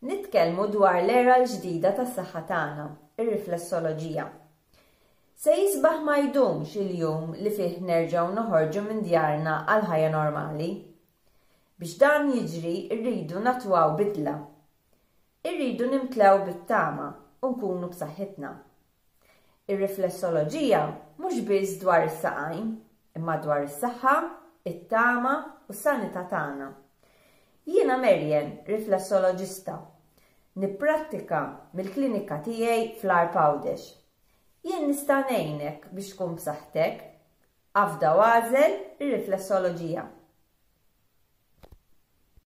Nitkellmu dwar l-era l-ġdida tas-saħħa tagħna, ir-riflessoloġija. Se jisbaħ ma jdumx il-jum li fih nerġgħu noħorġu minn djarna għal ħajja normali. Biex dan jiġri rridu natwaw bidla. Irridu nimtlew bit-tama u nkunu b'saħħitna. Ir-riflessoloġija mhux biss dwar is-saqajn, imma dwar is-saħħa, it-tama u s-sanità tagħna. Jiena Marian, riflessoloġista. Nipprattika mill-klinika tiegħi fl-Għarb Għawdex. Jien nista' ngħinek biex tkun b'saħħtek. Afda u agħżel ir-riflessoloġija.